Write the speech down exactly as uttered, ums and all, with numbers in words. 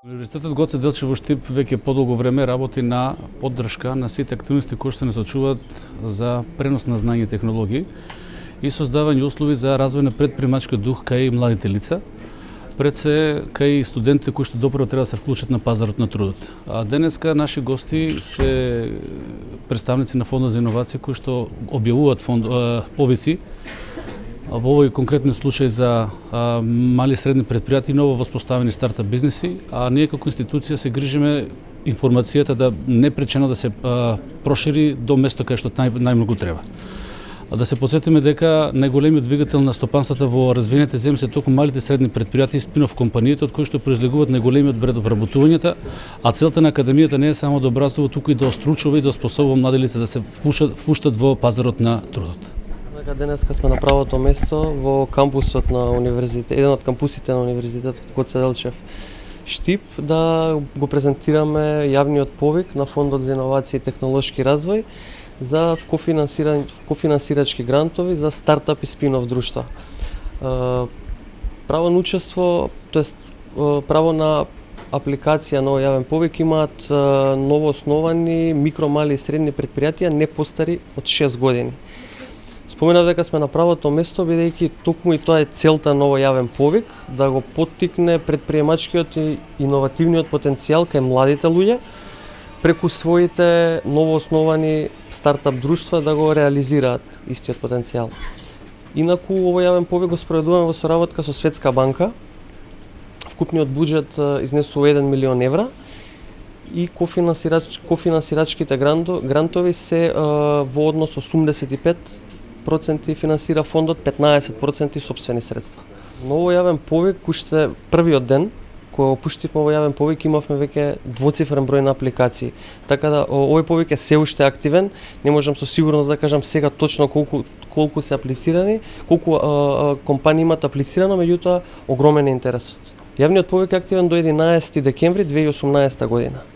Универзитетот Гоце Делчев во Штип веќе подолго време работи на поддршка на сите активности кои се насочуваат за пренос на знаење и технологии и создавање услови за развој на претпримачки дух кај младите лица, пред се кај студентите кои што допрво треба да се вклучат на пазарот на трудот. А денеска наши гости се представници на Фондот за иновации кои што објавуваат фонд, повици во овој конкретен случај за а, мали и средни предпријатија и ново воспоставени стартап бизнеси, а ние како институција се грижиме информацијата да не пречено да се а, прошири до место кај што нај, најмногу треба. А да се подсетиме дека најголемиот двигател на стопанствата во развиените земји се токму малите и средни предпријатија и спин-оф компаниите, од кои што произлегуваат најголемиот бред од вработувањата, а целта на академијата не е само да образува, туку и да остручува и да способува млади лица да се впуштат, впуштат во пазарот на трудот. Денеска сме на правото место во кампусот на универзитет, еден од кампусите на универзитетот Гоце Делчев Штип, да го презентираме јавниот повик на Фондот за иновации и технолошки развој за кофинансирачки грантови за стартап и спин-оф друштва. Право на учество, тоест право на апликација на овој јавен повик имаат новоосновани микро, мали и средни предпријатија не постари од шест години. Споменав дека сме на правото место, бидејќи токму и тоа е целта на овој јавен повик, да го поттикне претприемачкиот и иновативниот потенцијал кај младите луѓе, преку своите новоосновани стартап друштва да го реализираат истиот потенцијал. Инаку овој јавен повик го спроведуваме во соработка со Светска банка. Вкупниот буџет изнесува еден милион евра и кофинансирач, кофинансирачките грантови се во однос осумдесет и пет проценти финансира фондот, петнаесет проценти сопствени средства. Но овој јавен повик, уште првиот ден, кога опуштивме овој јавен повик, имавме веќе двоцифрен број на апликации. Така да овој повик е се уште активен, не можам со сигурност да кажам сега точно колку колку се аплицирани, колку а, а, компании имаат аплицирано, меѓутоа огромен е интересот. Јавниот повик е активен до единаесети декември две илјади и осумнаесета година.